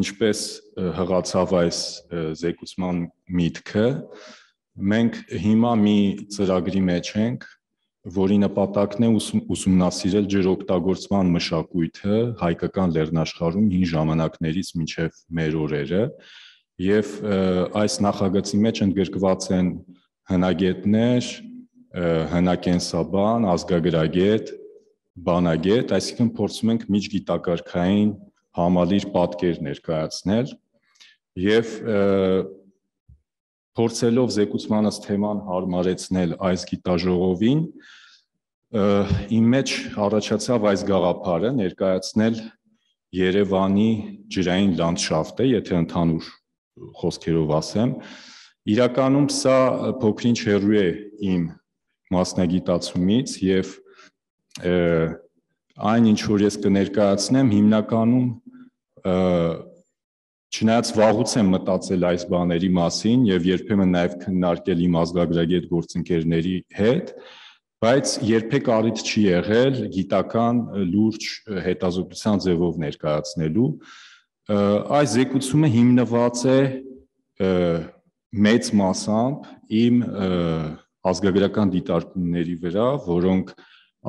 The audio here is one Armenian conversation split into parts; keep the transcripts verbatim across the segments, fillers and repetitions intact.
ինչպես հղացավ այս զեկուցման միտքը, մենք հիմա մի ծրագրի մեջ ենք, որի նպատակն է ուսումնասիրել ջրօգտագործման մշակույթը հայկական լեռնաշխարհում հին ժամանակներից մինչև մեր օրերը, եւ այս նախագծի մեջ ընդգրկված են հնագետներ, հնակենսաբան, ազգագրագետ, բանագետ, այսինքն փորձում ենք միջգիտակարգային համալիր պատկեր ներկայացնել եւ փորձելով զեկուցմանս թեման հարմարեցնել այս գիտաժողովին, իմ մեջ առաջացավ այս գաղափարը ներկայացնել Երևանի ջրային լանդշաֆտը, եթե ընդհանուր խոսքերով ասեմ, իրականում սա փոքրինչ հեռու է իմ մասնագիտացումից եւ այն ինչ որ ես կներկայացնեմ հիմնականում չնայած վաղուց եմ մտածել այս բաների մասին եւ երբեմն նաեւ քննարկել իմ ազգագրագետ գործընկերների հետ, բայց երբեք առիթ չի եղել գիտական լուրջ հետազոտության ձևով ներկայացնելու։ Այս զեկուցումը հիմնված է մեծ մասամբ իմ ազգագրական դիտարկումների վրա, որոնք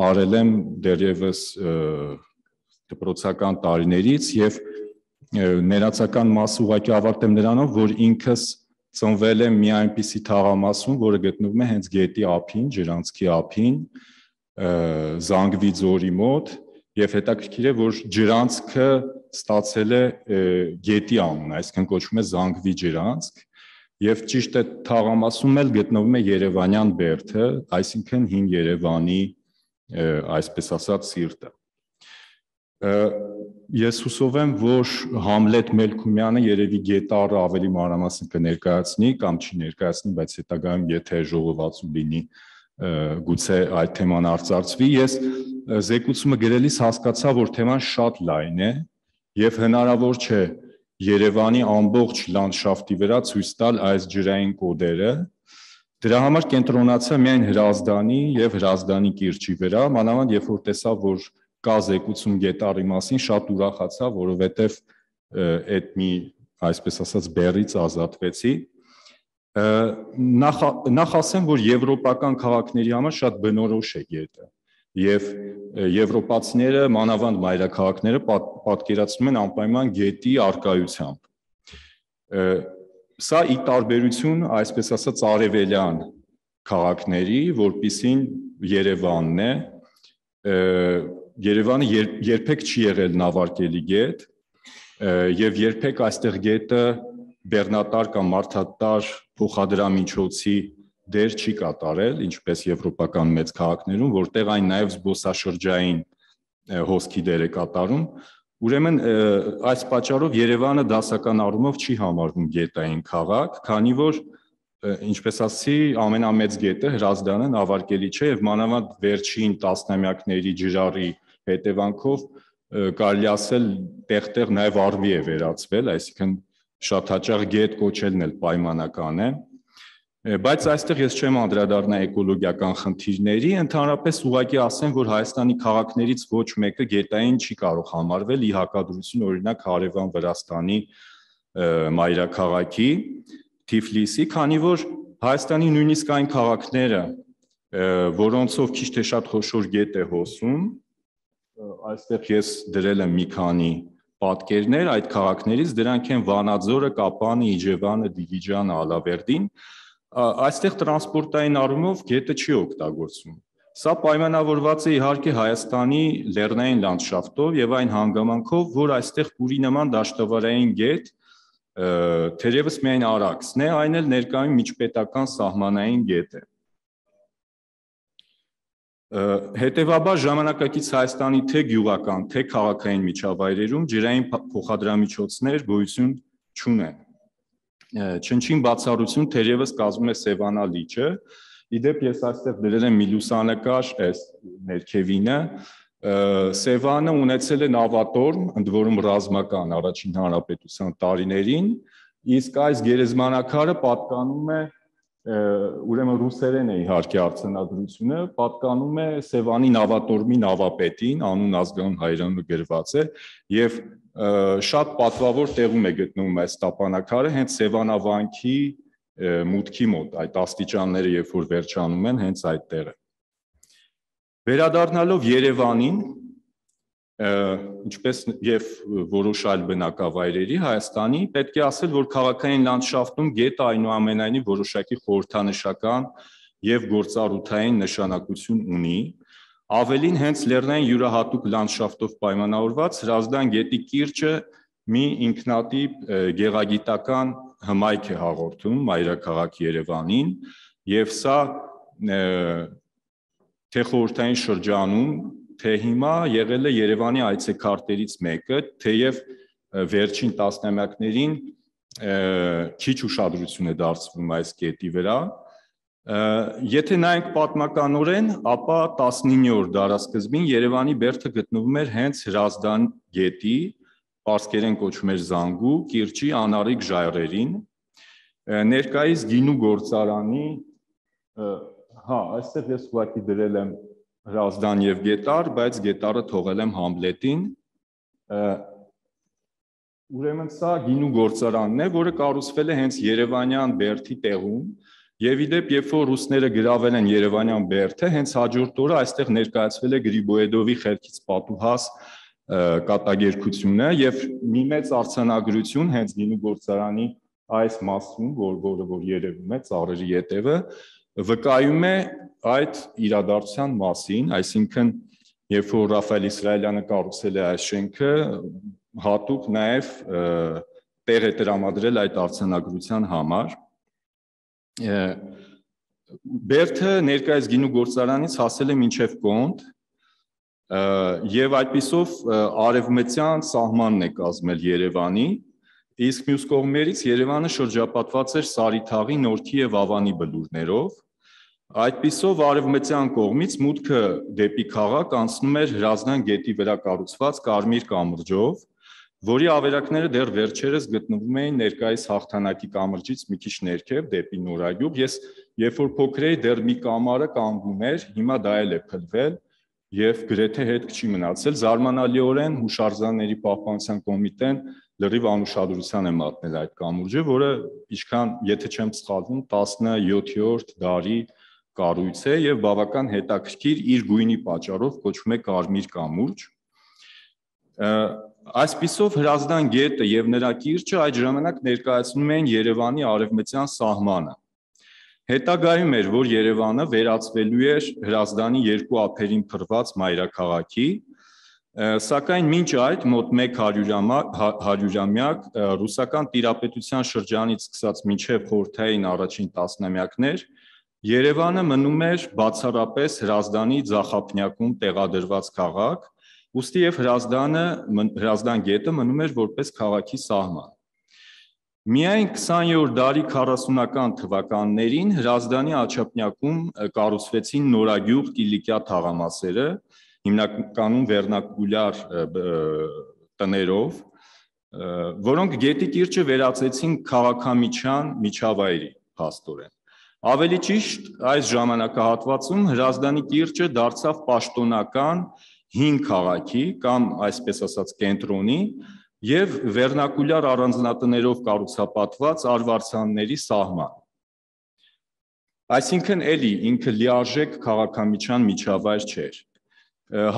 արել եմ դեռևս դպրոցական տարիներից եւ ներածական մասը ուղղակի ավարտեմ նրանով, որ ինքս ծնվել եմ մի այնպիսի թաղամասում, որը գտնվում է հենց գետի ափին, ջրանցքի ափին, Զանգվի ձորի մոտ, եւ հետաքրքիր է, որ ջրանցքը ստացել է գետի անուն, այսինքն կոչվում է Զանգվի ջրանցք, եւ ճիշտ է թաղամասում էլ գտնվում է Երևանյան բերդը, այսինքն հին Երևանի, այսպես ասած, սիրտը։ Ես հուսով եմ, որ Համլետ Մելքումյանը երևի գետառը ավելի մանրամասն կներկայացնի կամ չի ներկայացնի, բայց հետագայում եթե ժողովածու լինի, գուցե այդ թեման արծարծվի։ Ես զեկուցումը գրելիս հասկացա, որ թեման շատ լայն է եւ հնարավոր չէ Երևանի ամբողջ լանդշաֆտի վրա ցույց տալ այս ջրային կոդերը։ Դրա համար կենտրոնացա միայն Հրազդանի եւ Հրազդանի կիրճի վրա, մանավանդ երբ որ տեսա, որ կա զեկուցում գետառի մասին, շատ ուրախացա, որովհետև այդ մի, այսպես ասած, բեռից ազատվեցի։ Նախ ասեմ, որ եվրոպական քաղաքների համար շատ բնորոշ է գետը, եւ եվրոպացիները, մանավանդ մայրաքաղաքները պատկերացնում են անպայման գետի առկայությամբ։ Սա ի տարբերություն, այսպես ասած, արևելյան քաղաքների, որպիսին Երևանն է, Երևանը երբեք չի եղել նավարկելի գետ եւ երբեք այստեղ գետը բեռնատար կամ մարդատար փոխադրամիջոցի դեր չի կատարել, ինչպես եվրոպական մեծ քաղաքներում, որտեղ այն նաեւ զբոսաշրջային հոսքի դեր է կատարում։ Ուրեմն այս պատճառով Երևանը դասական առումով չի համարվում գետային քաղաք, քանի որ ինչպես ասի, ամենամեծ գետը Հրազդանը նավարկելի չէ եւ մանավանդ վերջին տասնամյակների ջրառի հետևանքով կարելի ասել տեղ-տեղ նաեւ առվի է վերածվել, այսինքն շատ հաճախ գետ կոչելն էլ պայմանական է, բայց այստեղ ես չեմ անդրադառնա էկոլոգիական խնդիրների, ընդհանրապես ուղղակի ասեմ, որ Հայաստանի քաղաքներից ոչ մեկը գետային չի կարող համարվել ի հակադրություն օրինակ հարևան Վրաստանի մայրաքաղաքի Թիֆլիսի, քանի որ Հայաստանի նույնիսկ այն քաղաքները, որոնցով քիչ թե շատ խոշոր գետ է հոսում, այստեղ ես դրել եմ մի քանի պատկերներ այդ քաղաքներից, դրանք են Վանաձորը, Կապանը, Իջևանը, Դիլիջանը, Ալավերդին, այստեղ տրանսպորտային առումով գետը չի օգտագործվում։ Սա պայմանավորված է իհարկե Հայաստանի լեռնային լանդշաֆտով եւ այն հանգամանքով, որ այստեղ Պուրի նման դաշտավարային գետ թերևս միայն Արաքսն է, այն էլ ներկայում միջպետական սահմանային գետ է։ Հետևաբար ժամանակակից Հայաստանի թե գյուղական, թե քաղաքային միջավայրերում ջրային փոխադրամիջոցներ գոյություն չունեն։ Չնչին բացառություն թերևս կազմում է Սևանա լիճը, իդեպ ես այստեղ դրել եմ մի լուսանկար, այս ներքևինը, Սևանը ունեցել է նավատորմ, ընդ որում ռազմական առաջին հանրապետության տարիներին, իսկ այս գերեզմանակարը պատկանում է, ուրեմն ռուսերեն է իհարկե արձանագրությունը, պատկանում է Սևանի նավատորմի նավապետին, անուն ազգանուն հայրենը գրված է, եւ շատ պատվավոր տեղում է գտնվում այս տապանակարը, հենց Սևանավանքի մուտքի մոտ, այդ աստիճանները երբ որ վերջանում են, հենց այդ տեղը։ Վերադառնալով Երևանին, ինչպես եւ որոշ այլ բնակավայրերի Հայաստանի, պետք է ասել, որ քաղաքային լանդշաֆտում գետը այնուամենայնիվ որոշակի խորհրդանշական եւ գործառութային նշանակություն ունի, ավելին հենց լեռնային յուրահատուկ լանդշաֆտով պայմանավորված Հրազդան գետի կիրճը մի ինքնատիպ գեղագիտական հմայք է հաղորդում մայրաքաղաք Երևանին, եւ սա թե խորհրդային շրջանում, թե հիմա եղել է Երևանի այցեքարտերից մեկը, թեև վերջին տասնամյակներին քիչ ուշադրություն է դարձվում այս գետի վրա։ Եթե նայենք պատմականորեն, ապա տասնիններորդ դարասկզբին Երևանի բերդը գտնվում էր հենց Հրազդան գետի, պարսկերեն կոչվում էր Զանգու, կիրճի անառիկ ժայռերին, ներկայիս գինու գործարանի, հա, այստեղ ես ուղղակի դրել եմ Հրազդան եւ Գետառ, բայց Գետառը թողել եմ Համլետին։ Ուրեմն սա գինու գործարանն է, որը կառուցվել է հենց Երևանյան բերդի տեղում, եւ իդեպ երբ որ ռուսները գրավել են Երևանյան բերդը, հենց հաջորդ օրը այստեղ ներկայացվել է Գրիբոեդովի խելքից պատուհաս կատակերգությունը եւ մի մեծ արձանագրություն հենց գինու գործարանի այս մասում, որը որ երևում է ծառերի ետևը, վկայում է այդ իրադարձության մասին, այսինքն երբ որ Ռաֆայել Իսրայելյանը կառուցել է այս շենքը, հատուկ նաև տեղ է տրամադրել այդ արձանագրության համար։ Բերդը ներկայիս գինու գործարանից հասել է մինչև Կոնդ եւ այդպիսով արևմտյան սահմանն է կազմել Երևանի, իսկ մյուս կողմերից Երևանը շրջապատված էր Սարիթաղի, Նորքի եւ Ավանի բլուրներով։ Այդպիսով արևմտյան կողմից մուտքը դեպի քաղաք անցնում էր Հրազդան գետի վրա կառուցված Կարմիր կամրջով, որի ավերակները դեռ վերջերս գտնվում էին ներկայիս Հաղթանակի կամրջից մի քիչ ներքև դեպի Նորագյուղ։ Ես երբ որ փոքր էի, դեռ մի կամարը կանգնում էր, հիմա դա էլ է փլվել եւ գրեթե հետք չի մնացել։ Զարմանալիորեն Հուշարձանների պահպանության կոմիտեն լրիվ անուշադրության է մատնել այդ կամուրջը, որը ինչքան, եթե չեմ սխալվում, տասնյոթերորդ դարի կառույց է եւ բավական հետաքրքիր իր գույնի պատճառով կոչվում է Կարմիր կամուրջ։ Այսպիսով Հրազդան գետը եւ նրա կիրճը այդ ժամանակ ներկայացնում են Երևանի արևմտյան սահմանը։ Հետագայում էր, որ Երևանը վերածվելու էր Հրազդանի երկու ափերին փռված մայրաքաղաքի, սակայն մինչ այդ մոտ մեկ հարյուրամյակ ռուսական տիրապետության շրջանից սկսած մինչև խորհրդային առաջին տասնամյակներ Երևանը մնում էր բացառապես Հրազդանի ձախափնյակում տեղադրված քաղաք, ուստի եւ Հրազդանը, Հրազդան գետը մնում էր որպես քաղաքի սահման։ Միայն քսաներորդ դարի քառասունական թվականներին Հրազդանի աջափնյակում կառուցվեցին նորագյուղ Կիլիկիա թաղամասերը, հիմնականում վերնակուլյար տներով, որոնք գետի կիրճը վերածեցին քաղաքամիջյան միջավայրի փաստորեն։ Ավելի ճիշտ, այս ժամանակահատվածում Հրազդանի կիրճը դարձավ պաշտոնական հին քաղաքի կամ այսպես ասած կենտրոնի եւ վերնակուլյար առանձնատներով կառուցապատված արվարձանների սահման։ Այսինքն էլի ինքը լիարժեք քաղաքամիջյան միջավայր չէր։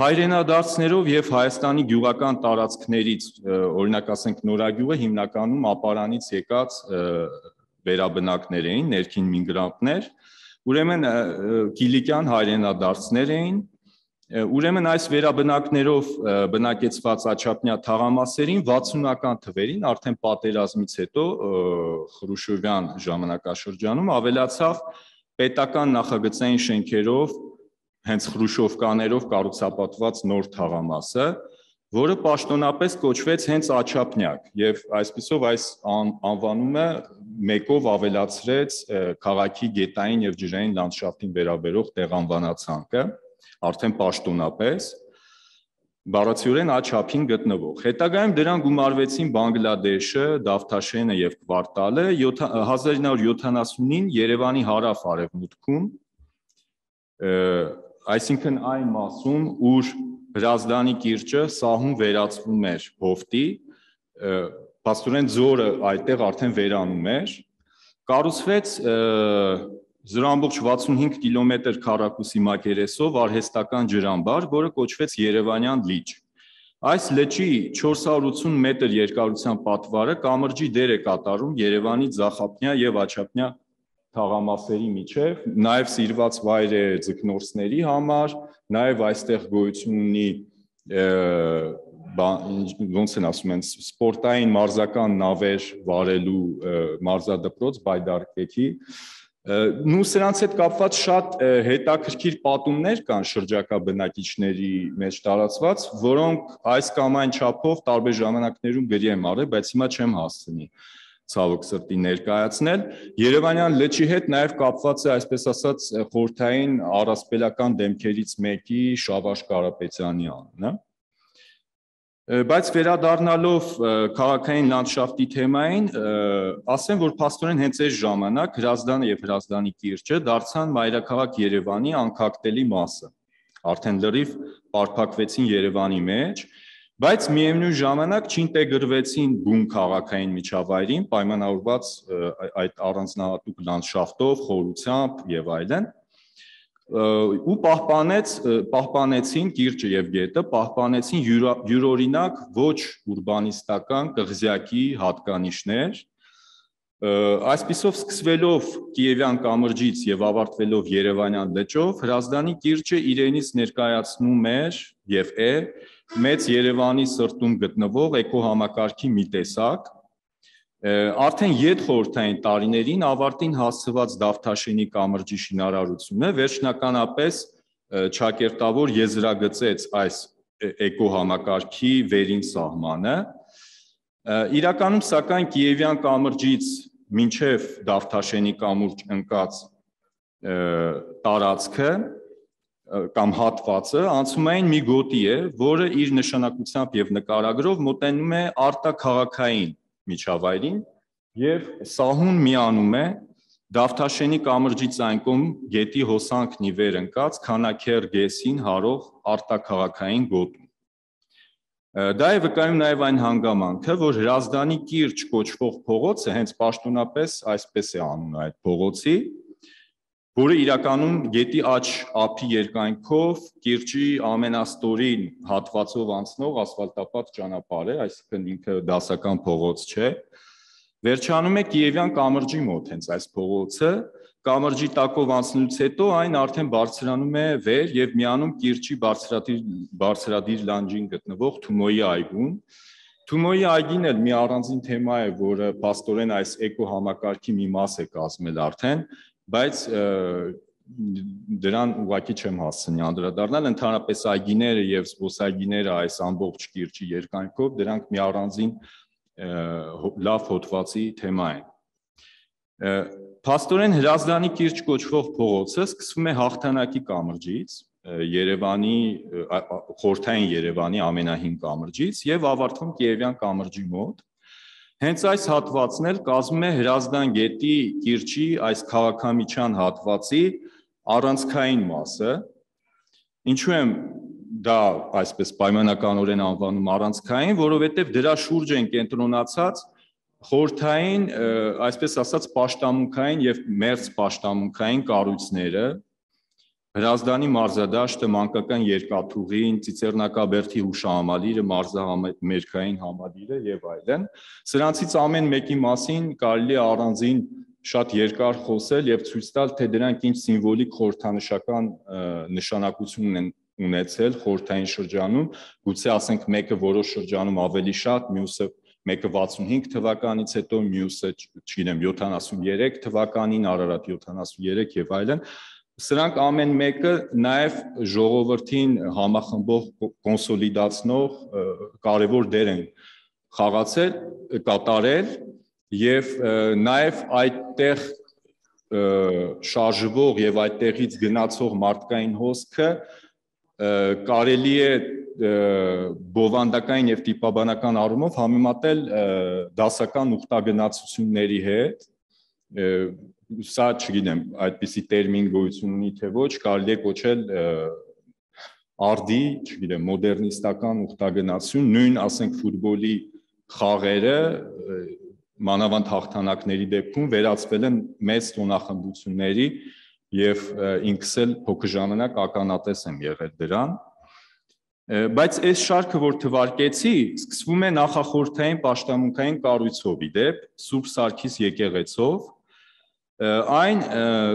Հայրենադարձներով եւ Հայաստանի գյուղական տարածքներից, օրինակ ասենք Նորագյուղը հիմնականում ապարանից եկած վերաբնակներ էին, ներքին միգրանտներ, ուրեմն Կիլիկյան հայրենադարձներ էին, ուրեմն այս վերաբնակներով բնակեցված աչափնյա թաղամասերին վաթսունական թվերին, արդեն պատերազմից հետո Խրուշովյան ժամանակաշրջանում ավելացավ պետական նախագծային շենքերով, հենց Խրուշովկաներով կառուցապատված նոր թաղամասը, որը պաշտոնապես կոչվեց հենց Աչափնյակ եւ այսպիսով այս անվանումը մեկով ավելացրեց քաղաքի գետային եւ ջրային լանդշաֆտին վերաբերող տեղանվանացանկը, արդեն պաշտոնապես բառացիորեն աչափին գտնվող։ Հետագայում դրան գումարվեցին Բանգլադեշը, Դավթաշենը եւ Կվարտալը, հազար ինը հարյուր յոթանասունին Երևանի հարավ-արևմուտքում, այսինքն այն մասում, ուր Հրազդանի կիրճը սահուն վերածվում էր հովտի, Փաստորեն ձորը այդտեղ արդեն վերանում էր, կառուցվեց զրո ամբողջ վաթսունհինգ կիլոմետր քառակուսի մակերեսով արհեստական ջրամբար, որը կոչվեց Երևանյան լիճ։ Այս լճի չորս հարյուր ութսուն մետր երկարության պատվարը կամրջի դեր է կատարում Երևանի ձախապնյա եւ աջափնյա թաղամասերի միջև, նաեւ սիրված վայր է ձկնորսների համար, նաեւ այստեղ գոյություն ունի ոնց են ասում են սպորտային մարզական նավեր վարելու մարզադպրոց Բայդարկեքի Նու սրանց հետ կապված շատ հետաքրքիր պատումներ կան շրջակա բնակիչների մեջ տարածված, որոնք այս կամ այն չափով տարբեր ժամանակներում գրի եմ արել, բայց հիմա չեմ հասցնի ցավոք սրտի ներկայացնել։ Երևանյան լճի հետ նաև կապված է այսպես ասած խորհրդային առասպելական դեմքերից մեկի Շավարժ Կարապետյանի անունը։ Բայց վերադառնալով քաղաքային լանդշաֆտի թեմային, ասեմ, որ փաստորեն հենց այս ժամանակ Հրազդանը եւ Հրազդանի կիրճը դարձան մայրաքաղաք Երևանի անկախտելի մասը։ Արդեն լրիվ պարփակվեցին Երևանի մեջ, բայց միևնույն ժամանակ չինտեգրվեցին բուն քաղաքային միջավայրին, պայմանավորված այդ առանձնահատուկ լանդշաֆտով, խորությամբ եւ այլն։ Ու պահպանեց պահպանեցին կիրճը եւ գետը, պահպանեցին յուրօրինակ ոչ ուրբանիստական կղզյակի հատկանիշներ։ Այսպիսով սկսվելով Կիևյան կամրջից եւ ավարտվելով Երևանյան լճով, Հրազդանի կիրճը իրենից ներկայացնում էր եւ է մեծ Երևանի սրտում գտնվող էկոհամակարգի մի տեսակ։ Արդեն յետխորհրդային տարիներին ավարտին հասցված Դավթաշենի կամրջի շինարարությունը վերջնականապես ճակերտավոր եզրագծեց այս էկոհամակարգի վերին սահմանը։ Իրականում սակայն Կիևյան կամրջից մինչև Դավթաշենի կամուրջ ընկած տարածքը կամ հատվածը անցումային մի գոտի է, որը իր նշանակությամբ եւ նկարագրով մոտենում է արտաքաղաքային միջավայրին եւ սահուն միանում է Դավթաշենի կամրջից այն կողմ գետի հոսանքն ի վեր ընկած Քանաքեռ գեսին հարող արտաքաղաքային գոտում։ Դա է վկայում նաեւ այն հանգամանքը, որ Հրազդանի կիրճ կոչվող փողոցը հենց պաշտոնապես այսպես է անունը այդ փողոցի, որը իրականում գետի աջ ափի երկայնքով կիրճի ամենաստորին հատվածով անցնող ասֆալտապատ ճանապարհ է, այսինքն ինքը դասական փողոց չէ։ Վերջանում է Կիևյան կամրջի մոտ հենց այս փողոցը, կամրջի տակով անցնելուց հետո այն արդեն բարձրանում է վեր եւ միանում կիրճի բարձրադիր բարձրադիր լանջին գտնվող Թումոյի այգուն։ Թումոյի այգին էլ մի առանձին թեմա է, որը փաստորեն այս էկոհամակարգի մի մաս է կազմել արդեն, բայց դրան ուղղակի չեմ հասցնի անդրադառնալ, ընդհանրապես այգիները եւ զբոսայգիները այս ամբողջ կիրճի երկայնքով դրանք մի առանձին լավ հոդվածի թեմա են։ Փաստորեն Հրազդանի կիրճ կոչվող փողոցը սկսվում է Հաղթանակի կամրջից, Երևանի խորհրդային Երևանի ամենահին կամրջից եւ ավարտվում Կիևյան կամրջի մոտ։ Հենց այս հատվածն էլ կազմում է Հրազդան գետի կիրճի այս քաղաքամիջյան հատվածի առանցքային մասը։ Ինչու եմ դա այսպես պայմանականորեն անվանում առանցքային, որովհետև դրա շուրջ են կենտրոնացած խորհրդային, այսպես ասած, պաշտամունքային եւ մերձ պաշտամունքային կառույցները, Հրազդանի մարզադաշտը, մանկական երկաթուղին, Ծիծեռնակաբերդի հուշահամալիրը, մարզամերկային համալիրը եւ այլն։ Սրանցից ամեն մեկի մասին կարելի է առանձին շատ երկար խոսել եւ ցույց տալ, թե դրանք ինչ սիմվոլիկ խորհրդանշական նշանակություն են ունեցել խորհրդային շրջանում, գուցե ասենք մեկը որոշ շրջանում ավելի շատ, մյուսը մեկը վաթսունհինգ թվականից հետո, մյուսը, չգիտեմ, յոթանասուններեք թվականին, Արարատ յոթանասուներեք եւ այլն։ Սրանք ամեն մեկը նաեւ ժողովրդին համախմբող, կոնսոլիդացնող կարևոր դեր են խաղացել, կատարել եւ նաեւ այդտեղ շարժվող եւ այդտեղից գնացող մարդկային հոսքը կարելի է բովանդակային եւ տիպաբանական առումով համեմատել դասական ուխտագնացությունների հետ, սա չգիտեմ, այդպիսի տերմին գոյություն ունի թե ոչ, կարելի է կոչել արդի, չգիտեմ, մոդեռնիստական ուխտագնացություն, նույն ասենք ֆուտբոլի խաղերը մանավանդ հաղթանակների դեպքում վերածվել են մեծ տոնախմբությունների եւ ինքս էլ փոքր ժամանակ ականատես եմ եղել դրան, բայց այս շարքը, որ թվարկեցի, սկսվում է նախախորհրդային պաշտամունքային կառույցով, իդեպ Սուրբ Սարգիս եկեղեցով, այն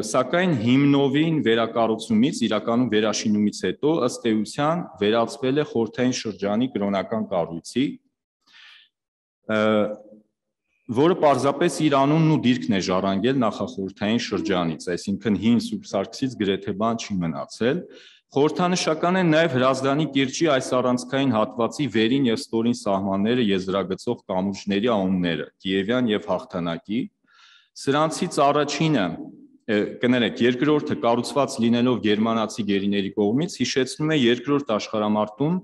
սակայն հիմնովին վերակառուցումից, իրականում վերաշինումից հետո ըստ էության վերածվել է խորհրդային շրջանի կրոնական կառույցի, որը պարզապես իր անունն ու դիրքն է ժառանգել նախախորհրդային շրջանից, այսինքն հին Սուրբ Սարգսից գրեթե բան չի մնացել։ Խորհրդանշական են նաև Հրազդանի կիրճի այս առանցքային հատվածի վերին եւ ստորին սահմանները եզրագծող կամուրջների անունները՝ Կիևյան եւ Հաղթանակի։ Սրանցից առաջինը, կներեք, երկրորդը կառուցված լինելով գերմանացի գերիների կողմից հիշեցնում է երկրորդ աշխարհամարտում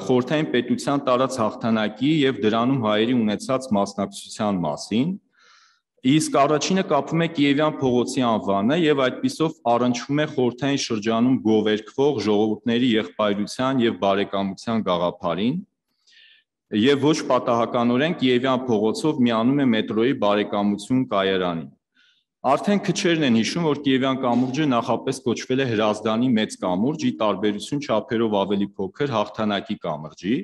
խորհրդային պետության տարած հաղթանակի եւ դրանում հայերի ունեցած մասնակցության մասին, իսկ առաջինը կապվում է Կիևյան փողոցի անվանը եւ այդպիսով առնչվում է խորհրդային շրջանում գովերգվող ժողովուրդների եղբայրության եւ բարեկամության գաղափարին եւ ոչ պատահականորեն Կիևյան փողոցով միանում է մետրոյի բարեկամություն կայարանին։ Արդեն քչերն են հիշում, որ Կիևյան կամուրջը նախապես կոչվել է Հրազդանի մեծ կամուրջ, ի տարբերություն չափերով ավելի փոքր Հաղթանակի կամրջի,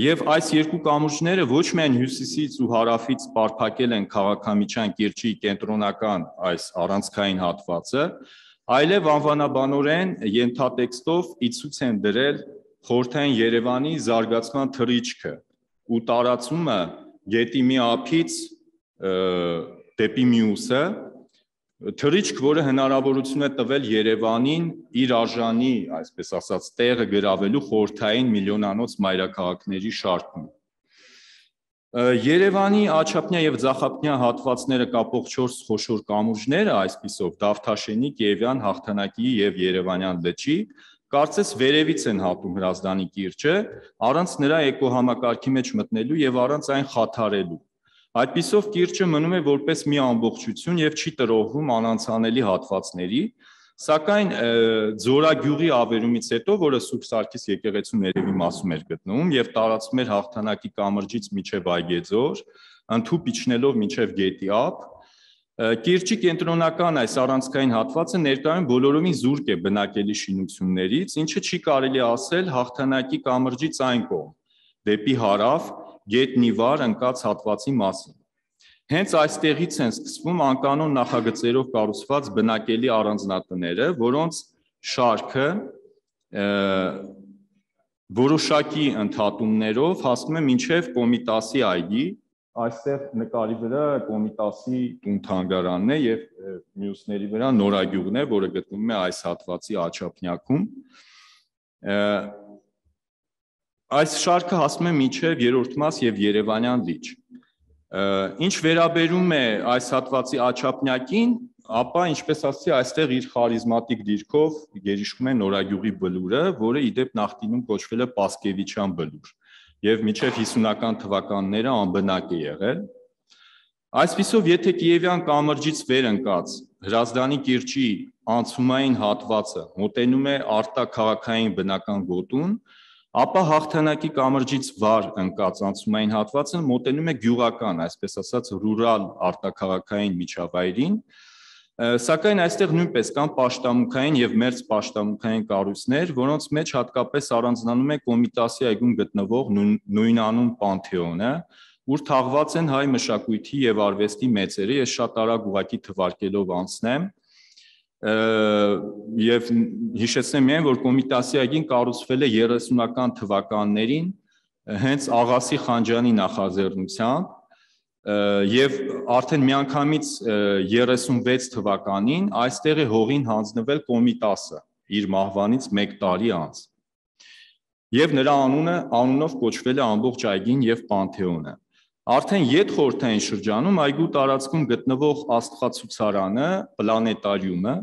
եւ այս երկու կամուրջները ոչ միայն հյուսիսից ու հարավից պարփակել են քաղաքամիջյան կիրճի կենտրոնական այս առանցքային հատվածը, այլև անվանաբանորեն ենթատեքստով ի ցույց են դրել խորհրդային Երևանի զարգացման թռիչքը ու տարածումը գետի մի ափից դեպի մյուսը, թռիչք, որը հնարավորություն է տվել Երևանին իր արժանի, այսպես ասած, տեղը գրավելու խորհրդային միլիոնանոց մայրաքաղաքների շարքում։ Երևանի աչափնյա եւ ձախափնյա հատվածները կապող չորս խոշոր կամուրջները, այսպիսով Դավթաշենի, Կիևյան, Հաղթանակի եւ Երևանյան լճի, կարծես վերևից են հատում Հրազդանի կիրճը, առանց նրա էկոհամակարգի մեջ մտնելու եւ առանց այն խաթարելու։ Այդպիսով կիրճը մնում է որպես մի ամբողջություն եւ չի տրոհվում անանցանելի հատվածների, սակայն Ձորագյուղի ավերումից հետո, որը Սուրբ Սարգիս եկեղեցու ներևի մասում էր գտնվում եւ տարածվում էր Հաղթանակի կամրջից մինչեւ Այգեձոր, ընդհուպ իջնելով մինչեւ Գետի ափ, կիրճի կենտրոնական այս առանցքային հատվածը ներկայում բոլորովին զուրկ է բնակելի շինություններից, ինչը չի կարելի ասել Հաղթանակի կամրջից այն կողմ, դեպի հարավ գետնի վար ընկած հատվածի մասին։ Հենց այստեղից են սկսվում անկանոն նախագծերով կառուցված բնակելի առանձնատները, որոնց շարքը որոշակի ընդհատումներով հասնում է մինչև Կոմիտասի այգի, այստեղ նկարի վրա Կոմիտասի տուն-թանգարանն է եւ մյուսների վրա Նորագյուղն է, որը գտնվում է այս հատվածի աչափնյակում։ Այս շարքը հասնում է մինչև երրորդ մաս եւ Երևանյան լիճ։ Ինչ վերաբերում է այս հատվածի աչափնյակին, ապա ինչպես ասացի, այստեղ իր խարիզմատիկ դիրքով գերիշխում է Նորագյուղի բլուրը, որը իդեպ նախկինում կոչվել է Պասկևիչյան բլուր եւ մինչեւ հիսունական թվականները անբնակ է եղել։ Այսպիսով, եթե Կիևյան կամրջից վեր ընկած Հրազդանի կիրճի անցումային հատվածը մոտենում է արտաքաղաքային բնական գոտուն, ապա Հաղթանակի կամրջից վար ընկած անցումային հատվածը մոտենում է գյուղական, այսպես ասած, ռուրալ արտաքաղաքային միջավայրին, սակայն այստեղ նույնպես կան պաշտամունքային եւ մերձ պաշտամունքային կառույցներ, որոնց մեջ հատկապես առանձնանում է Կոմիտասի այգում գտնվող նույնանուն Պանթեոնը, ուր թաղված են հայ մշակույթի եւ արվեստի մեծերը, ես շատ արագ ուղղակի թվարկելով անցնեմ, եւ հիշեցնեմ միայն, որ Կոմիտասի այգին կառուցվել է երեսունական թվականներին հենց Աղասի Խանջյանի նախաձեռնությամբ եւ արդեն միանգամից երեսունվեց թվականին այստեղ է հողին հանձնվել Կոմիտասը իր մահվանից մեկ տարի անց եւ նրա անունը անունով կոչվել է ամբողջ այգին եւ Պանթեոնը։ Արդեն յետխորհրդային շրջանում այգու տարածքում գտնվող աստղացուցարանը, պլանետարիումը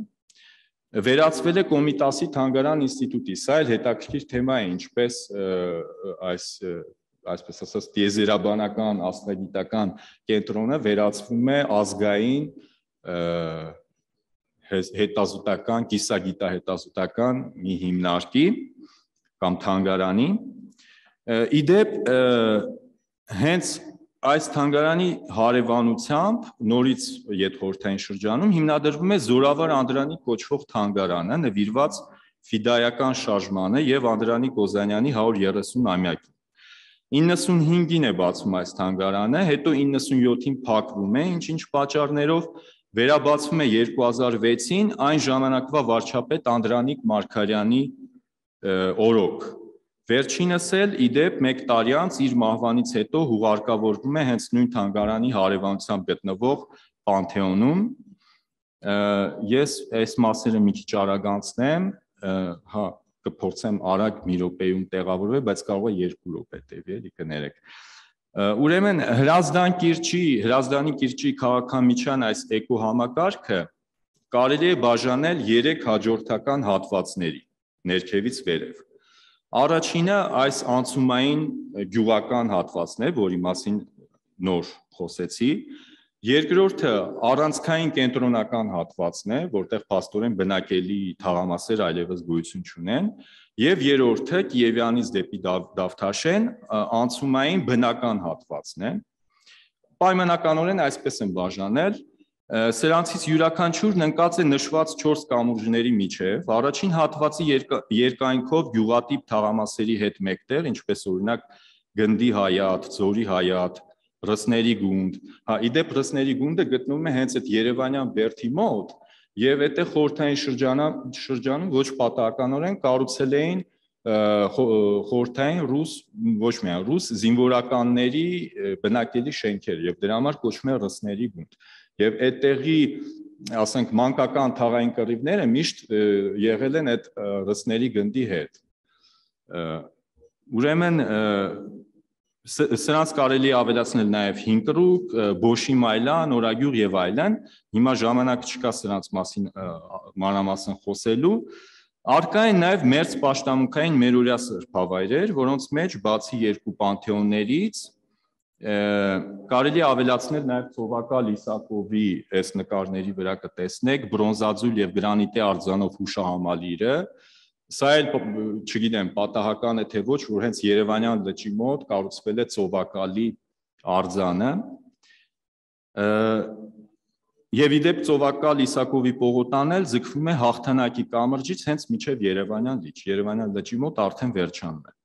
վերածվել է Կոմիտասի թանգարան ինստիտուտի։ Սա էլ հետաքրքիր թեմա է, ինչպես այս այսպես ասած տիեզերաբանական աստղագիտական կենտրոնը վերածվում է ազգային հետազոտական, կիսագիտահետազոտական մի հիմնարկի կամ թանգարանի։ Իդեպ հենց այս թանգարանի հարևանությամբ նորից յետխորհրդային շրջանում հիմնադրվում է Զորավար Անդրանիկ կոչվող թանգարանը, նվիրված ֆիդայական շարժմանը եւ Անդրանիկ Օզանյանի հարյուր երեսուն-ամյակին։ իննսունհինգին է բացվում այս թանգարանը, հետո իննսունյոթին փակվում է, ինչ-ինչ պատճառներով վերաբացվում է երկու հազար վեցին այն ժամանակվա վարչապետ Անդրանիկ Մարգարյանի օրոք։ Վերջինս էլ իդեպ մեկ տարի անց իր մահվանից հետո հուղարկավորվում է հենց նույն թանգարանի հարևանությամբ գտնվող Պանթեոնում։ Ես այս մասերը մի քիչ արագանցնեմ, հա, կփորձեմ արագ մի րոպեում տեղավորվել, բայց կարող է երկու րոպե տևի, էլի կներեք։ Ուրեմն Հրազդան կիրճի, Հրազդանի կիրճի քաղաքամիջյան այս էկոհամակարգը կարելի է բաժանել երեք հաջորդական հատվածների, ներքևից վերև։ Առաջինը այս անցումային գյուղական հատվածն է, որի մասին նոր խոսեցի։ Երկրորդը առանցքային կենտրոնական հատվածն է, որտեղ փաստորեն բնակելի թաղամասեր այլևս գոյություն չունեն, եւ երրորդը Կիևյանից դեպի Դավթաշեն անցումային բնական հատվածն է։ Պայմանականորեն այսպես են բաժանել։ Սրանցից յուրաքանչյուրն ընկած է նշված չորս կամուրջների միջև, առաջին հատվածի երկայնքով գյուղատիպ թաղամասերի հետ մեկտեղ, ինչպես օրինակ Գնդի Հայատ, Ձորի Հայատ, Ռսների գունդ, հա, իդեպ Ռսների գունդը գտնվում է հենց այդ Երևանյան բերդի մոտ, եւ այդտեղ խորհրդային շրջանում ոչ պատահականորեն կառուցել էին խորհրդային ռուս, ոչ միայն ռուս զինվորականների բնակելի շենքեր, եւ դրա համար կոչվում է Ռսների գունդ։ Եվ այդտեղի, ասենք, մանկական թաղային կռիվները միշտ եղել են այդ Ռսների գնդի հետ։ Ուրեմն սրանց կարելի ավելացնել նաև Հինկրուկ, Բոշիմայլա, Նորագյուղ եւ այլն։ Հիմա ժամանակ չկա սրանց մասին մանրամասն խոսելու։ Առկա են նաև մերձ պաշտամունքային մերօրյա սրբավայրեր, որոնց մեջ բացի երկու պանթեոններից կարելի ավելացնել նաև Ծովակալ Իսակովի այս նկարների վրա կտեսնեք բրոնզաձուլ եւ գրանիտե արձանով հուշահամալիրը։ Սա էլ չգիտեմ պատահական է թե ոչ, որ հենց Երևանյան լճի մոտ կառուցվել է Ծովակալի արձանը։ Եվ իդեպ Ծովակալ Իսակովի պողոտան էլ ձգվում է Հաղթանակի կամրջից հենց մինչև Երևանյան լիճ, Երևանյան լճի մոտ արդեն վերջանում է։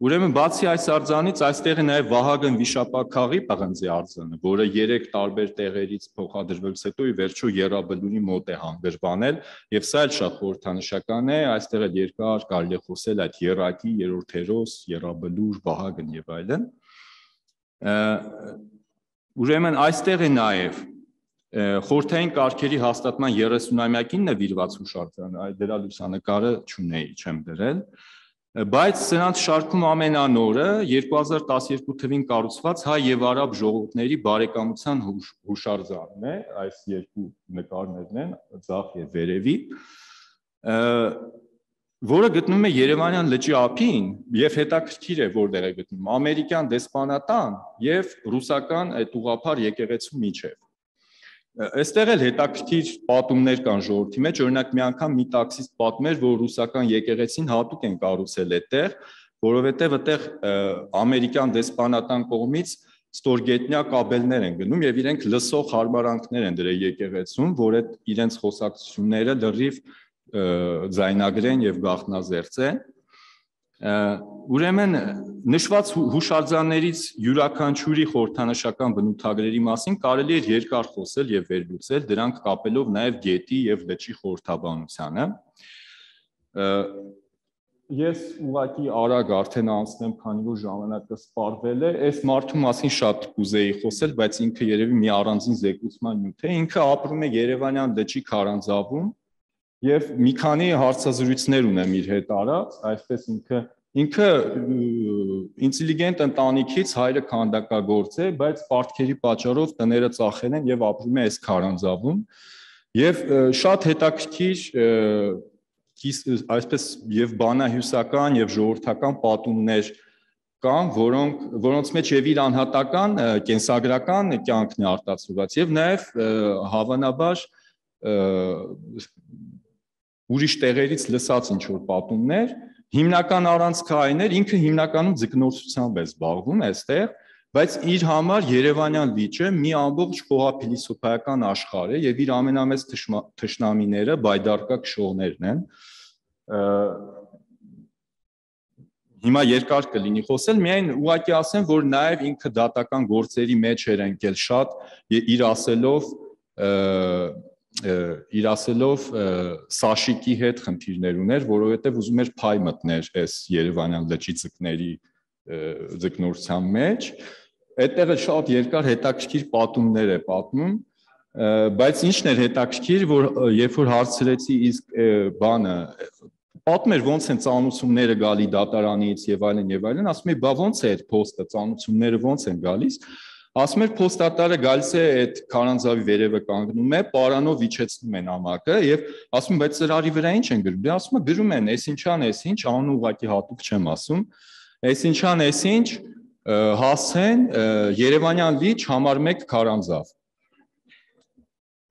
Ուրեմն բացի այս արձանից այստեղ է նաև Վահագն Վիշապաքաղի պղնձի արձանը, որը երեք տարբեր տեղերից փոխադրվելուց հետո ի վերջո Եռաբլուրի մոտ է հանգրվանել, եւ սա էլ շատ խորհրդանշական է, այստեղ էլ երկար կարելի է խոսել այդ Եռակի, Երրորդ հերոս, Եռաբլուր, Վահագն եւ այլն։ Ուրեմն այստեղ է նաև խորհրդային կարգերի հաստատման երեսունամյակին նվիրված հուշարձանը, դրա լուսանկարը չունեի, չեմ դրել, բայց սրանց շարքում ամենանորը երկու հազար տասներկու թվականին կառուցված հայ եւ արաբ ժողովուրդների բարեկամության հուշարձանն է, այս երկու նկարներն են, ձախ եւ վերևի, որը գտնվում է Երևանյան լճի ափին եւ հետաքրքիր է որտեղ է գտնվում ամերիկյան դեսպանատան եւ ռուսական այդ ուղղափառ եկեղեցու միջև։ Այստեղ էլ հետաքրքիր պատումներ կան ժողովրդի մեջ, օրինակ մի անգամ մի տաքսիստ պատմում էր, որ ռուսական եկեղեցին հատուկ են կառուցել այդտեղ, որովհետև այդտեղ ամերիկյան դեսպանատան կողմից ստորգետնյա կաբելներ են գնում եւ իրենք լսող հարմարանքներ են դրել եկեղեցում, որ այդ իրենց խոսակցությունները լրիվ ձայնագրեն եւ գաղտնազերծեն։ Ուրեմն նշված հուշարձաններից յուրաքանչյուրի խորհրդանշական բնութագրերի մասին կարելի է երկար խոսել եւ վերլուծել, դրանք կապելով նաեւ գետի եւ լճի խորհրդաբանությանը։ Ես ուղղակի արագ արդեն անցնեմ, քանի որ ժամանակը սպառվել է, այս մարդու մասին շատ կուզեի խոսել, բայց ինքը երևի մի առանձին զեկուցման նյութ է, ինքը ապրում է Երևանյան լճի քարանձավում եւ մի քանի հարցազրույցներ ունեմ իր հետ արած, այսպես ինքը ինքը ինտելիգենտ ընտանիքից, հայրը քանդակագործ է, բայց պարտքերի պատճառով տները ծախել են եւ ապրում է այս քարանձավում եւ շատ հետաքրքիր այսպես եւ բանահյուսական եւ ժողովրդական պատումներ կան, որոնք որոնց մեջ եւ իր անհատական կենսագրական կյանքն է արտացոլված եւ նաեւ հավանաբար ուրիշ տեղերից լսած ինչ որ պատումներ, հիմնական առանցքը այն էր, ինքը հիմնականում ձկնորսությամբ է զբաղվում այստեղ, բայց իր համար Երևանյան լիճը մի ամբողջ խոհափիլիսոփայական աշխարհ է եւ իր ամենամեծ թշնամիները բայդարկա քշողներն են։ Հիմա երկար կլինի խոսել, միայն ուղղակի ասեմ, որ նաև ինքը դատական գործերի մեջ էր ընկել շատ իր ասելով իր ասելով Սաշիկի հետ խնդիրներ ուներ, որովհետև ուզում էր փայ մտներ այս Երևանյան լճի ձկների ձկնորսության մեջ։ Այդտեղը շատ երկար հետաքրքիր պատումներ է պատմում, բայց ինչն էր հետաքրքիր, որ երբ որ հարցրեցի իսկ բանը պատմեր ոնց են ծանուցումները գալի դատարանից եւ այլն եւ այլն, ասում է, բա ոնց է այդ փոստը, ծանուցումները ոնց են գալիս, ասում էր փոստատարը գալիս է այդ քարանձավի վերևը կանգնում է, պարանով իջեցնում են ամակը եւ ասում, բայց ծրարի վրա ինչ են գրում, դե ասում է գրում են, այսինչան, այսինչ, անուն ուղղակի հատուկ չեմ ասում, այսինչան, այսինչ, հասցեն Երևանյան լիճ համար մեկ քարանձավ։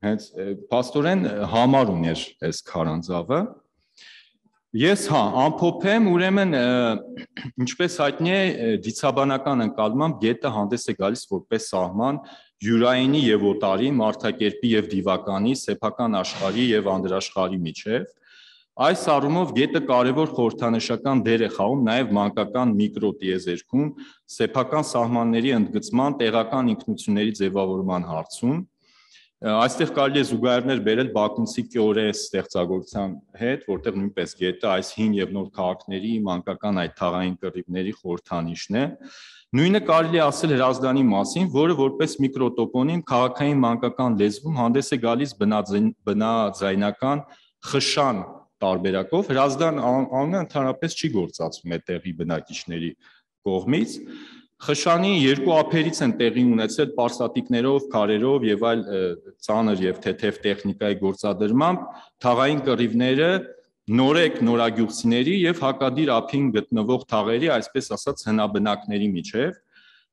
Հենց փաստորեն համար ուներ այս քարանձավը։ Ես հա ամփոփեմ, ուրեմն ինչպես հայտնի է դիցաբանական ընկալմամբ գետը հանդես է գալիս որպես սահման յուրայինի եւ օտարի, մարդակերպի եւ դիվականի, սեփական աշխարհի եւ անդրաշխարհի միջեւ։ Այս առումով գետը կարևոր խորհրդանշական դեր է խաղում նաեւ մանկական միկրոտիեզերքում, սեփական սահմանների ընդգծման, տեղական ինքնությունների ձևավորման հարցում։ Այստեղ կարելի է զուգահեռներ բերել Բաքունցի Կյորե ստեղծագործության հետ, որտեղ նույնպես գետը այս հին եւ նոր քաղաքների մանկական այդ թաղային կռիվների խորհրդանիշն է։ Նույնը կարելի է ասել Հրազդանի մասին, որը որպես միկրոտոպոնիմ քաղաքային մանկական լեզվում հանդես է գալիս բնաձայնական խշան տարբերակով։ Հրազդան անունը ընդհանրապես չի գործածվում այդտեղի բնակիչների կողմից։ Խշանի երկու ափերից են տեղի ունեցել պարսատիկներով, քարերով եւ այլ ծանր եւ թեթև տեխնիկայի գործադրմամբ թաղային կռիվները նորեկ նորագյուղցիների եւ հակադիր ափին գտնվող թաղերի, այսպես ասած, հնաբնակների միջեւ։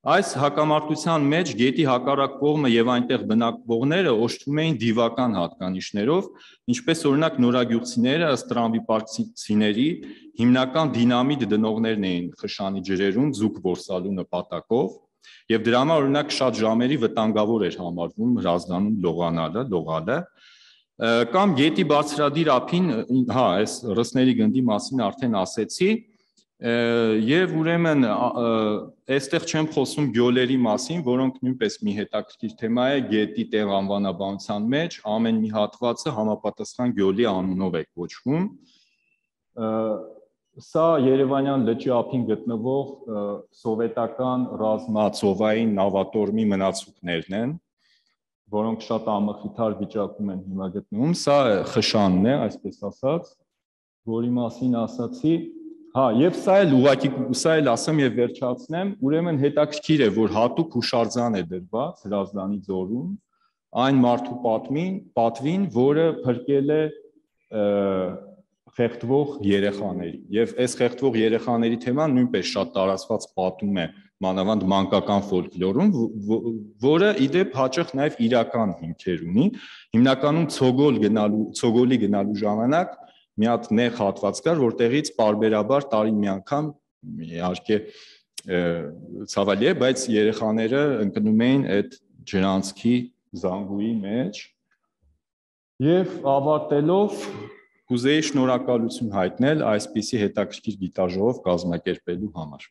Այս հակամարտության մեջ գետի հակառակ կողմը եւ այնտեղ բնակվողները օժտվում էին դիվական հատկանիշներով, ինչպես օրինակ նորագյուղցիները ըստ տրամբիպարքցիների հիմնական դինամիտ դնողներն էին խշանի ջրերում ձուկ որսալու նպատակով եւ դրա համար օրինակ շատ ժամերի վտանգավոր էր համարվում Հրազդանում լողանալը, լողալը կամ գետի բարձրադիր ափին, հա, այս ռսների գնդի մասին արդեն ասեցի, եւ ուրեմն այստեղ չեմ խոսում գյոլերի մասին, որոնք նույնպես մի հետաքրքիր թեմա է գետի տեղ անվանաբանության մեջ, ամեն մի հատվածը համապատասխան գյոլի անունով է կոչվում։ Սա Երևանյան լճի ափին գտնվող սովետական ռազմածովային նավատորմի մնացուկներն են, որոնք շատ ամխիթար վիճակում են հիմա գտնվում։ Սա խշանն է, այսպես ասած, որի մասին ասացի։ Հա, եւ սա էլ ուղղակի սա էլ ասեմ եւ վերջացնեմ, ուրեմն հետաքրքիր է, որ հատուկ հուշարձան է դրված Հրազդանի ձորում այն մարդու պատմին, պատվին, որը փրկել է խեղդվող երեխաների։ Եվ այս խեղդվող երեխաների թեման նույնպես շատ տարածված պատում է մանավանդ մանկական ֆոլկլորում, որը իդեպ հաճախ նաեւ իրական հիմքեր ունի։ Հիմնականում ցոգոլ գնալու, ցոգոլի գնալու ժամանակ մի հատ նեղ հատված կար, որտեղից պարբերաբար տարին մի անգամ իհարկե ցավալի է, բայց երեխաները ընկնում էին այդ ջրանցքի զանգուի մեջ եւ ավարտելով կուզեի շնորհակալություն հայտնել այսպիսի հետաքրքիր գիտաժողով կազմակերպելու համար։